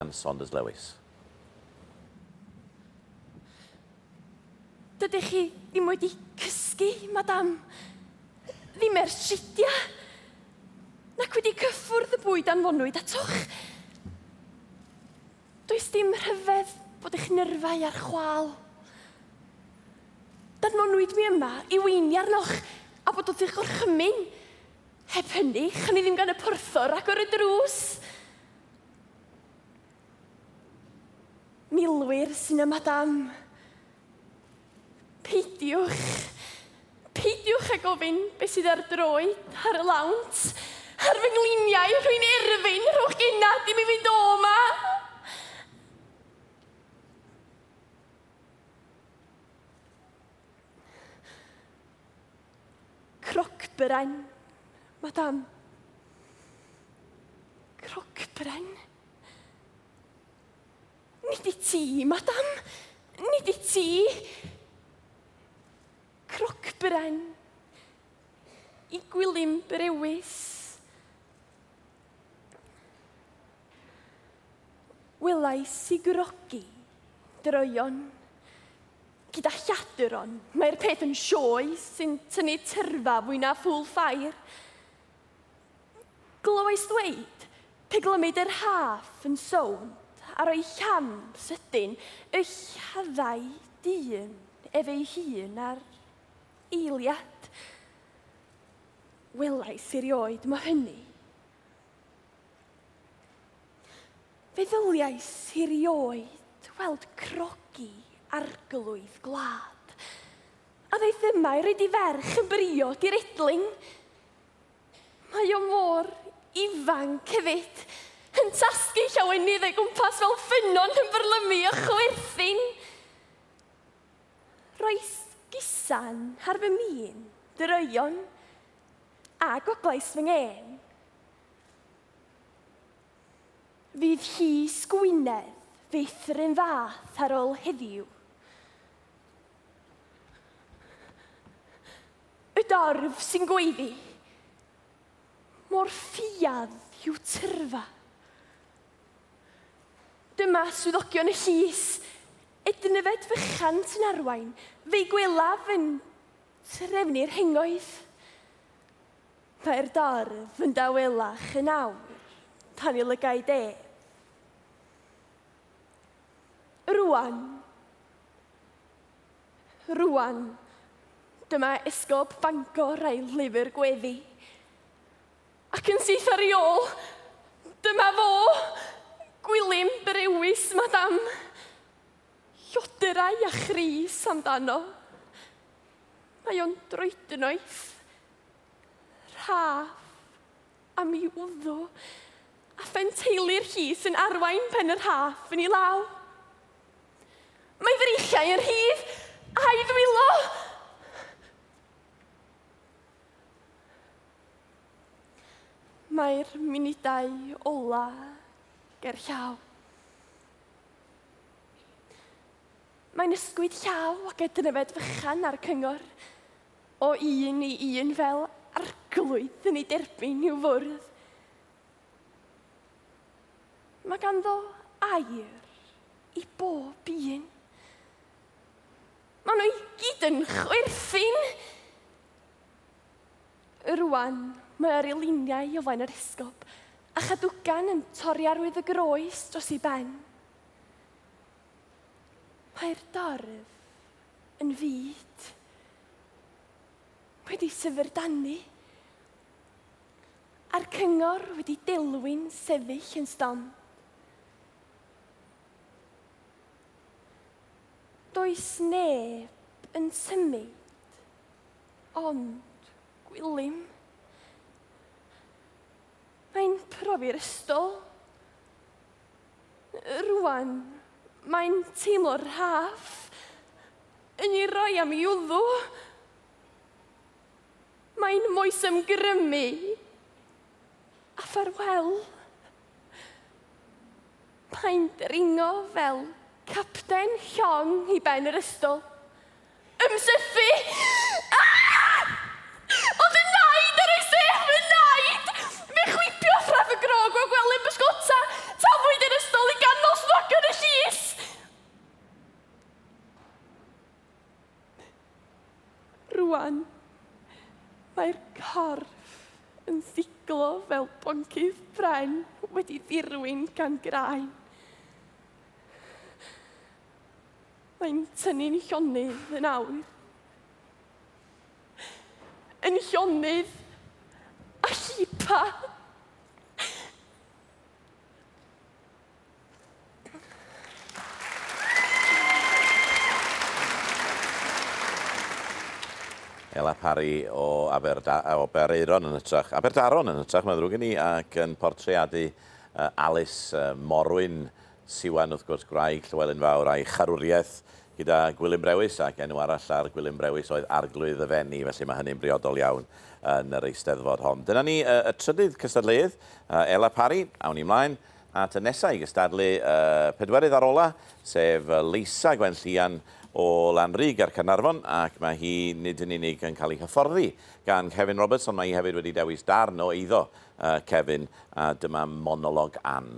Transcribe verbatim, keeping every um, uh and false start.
Saunders Lewis. Dydych chi ddim wedi cysgu, madam. Ddim ers tridia. Nac wedi cyffwrdd y bwyd anfonwyd atoch. Does dim rhyfedd bod eich nyrfau ar chwâl. Danfonwyd mi yma i weini arnoch a bod wrth eich gorchymyn. Heb hynny, chan i ddim gan y porthor agor y drws. Milwyr sy'n y madam. Peidiwch, peidiwch â gofyn beth sydd ar droed, ar y lawnt, ar fy ngliniau, rwy'n erfyn, rhowch gennad i mi fynd o 'ma. Crocbren, madam. Crocbren. Nid i ti, madam. Nid i ti. Crocbren. I Gwilym Brewis. Welais i grogi droion. Gyda lladron, mae'r peth yn sioe sy'n tynnu tyrfa fwy na ffwl ffair. Glywais ddweud, pe glymid yr haff yn sownd a roi llam sydyn y lladdai dyn ef ei hun ar eiliad. Welais erioed mo hynny. Fe ddyliais erioed weld crogi arglwydd gwlad. A ddaeth yma i roid i ferch yn briod i'r edling. Mae o mor ifanc hefyd, yn tasgu llawenydd o'i gwmpas fel ffynnon yn byrlymu o chwerthin. Roes gusan ar fy min, droion, a goglais fy ngên. Fydd hi Gwynedd fyth yr un fath ar ôl heddiw. Y dorf sy'n gweiddi, mor ffiadd yw tyrfa. Dyma swyddogion y llys, Ednyfed fychan sy'n arwain, fe'i gwelaf yn trefnu'r hengoedd. Mae'r dorf yn dawelach yn awr, tan i lygaid ef. Rwan, rwan, dyma esgob Bangor a'i lyfr gweddi. Ac yn syth ar ei ôl, dyma fo, Gwilym Brewis, madam. Llodyrau a chrys amdano. Mae o'n droednoeth, rhaff am ei wddw, a phenteulu'r llys yn arwain pen yr haff yn ei law. Mae freichiau yn rhydd, a'i ddwylo. Mae'r munudau ola ger llaw. Mae'n ysgwyd llaw ac ednyfed fychan ar y cyngor, o un i un fel arglwydd yn ei derbyn i'w fwrdd. Mae ganddo air i bob un. Maen nhw i gyd yn chwerthin. Rwan, mae ar ei liniau o flaen yr esgob, a chadwgan yn torri arwydd y groes dros ei ben. Mae'r dorf yn fud, wedi syfrdanu, a'r cyngor wedi delwyn sefyll yn stond. Does neb yn symud, ond Gwilym. Mae'n profi'r ystol. Rwan, mae'n teimlo'r rhaff yn ei roi am ei wddw. Mae'n moesymgrymu a ffarwel. Mae'n dringo fel capten llong i ben yr ystol. Ymsythu! Ah! Ond y naid ar ei sef, y naid! Fe chwipio ffraff y grog o gwely'n bysgota, tafwyd yr ystol i ganol. Rwan, mae'r corff yn siglo fel boncyff pren wedi ddirwyn gan graen. Mae'n tynnu'n llonydd yn awr. Yn llonydd a llipa. Ela Parry o Aberda, o Aberaeron yn hytrach, Aberdaron yn hytrach, mae'n ddrwg gen i, ac yn portreadu uh, Alice uh, Morwyn Siwan, wrth gwrs, gwraig Llywelyn Fawr a'i charwriaeth gyda Gwilym Brewis, ac enw arall ar Gwilym Brewis oedd Arglwydd y Fenni, felly mae hynny'n briodol iawn yn yr eisteddfod hon. Dyna ni uh, y trydydd cystadleuydd, uh, Ela Parry, awn ni ymlaen at y nesaf i gystadlu uh, pedwerydd ar ola, sef Leisa Gwenllian o Lanrug ar Caernarfon, ac mae hi nid yn unig yn cael ei hyfforddi gan Kevin Roberts, ond mae hi hefyd wedi dewis darn o eiddo uh, Kevin, a dyma monolog Ann.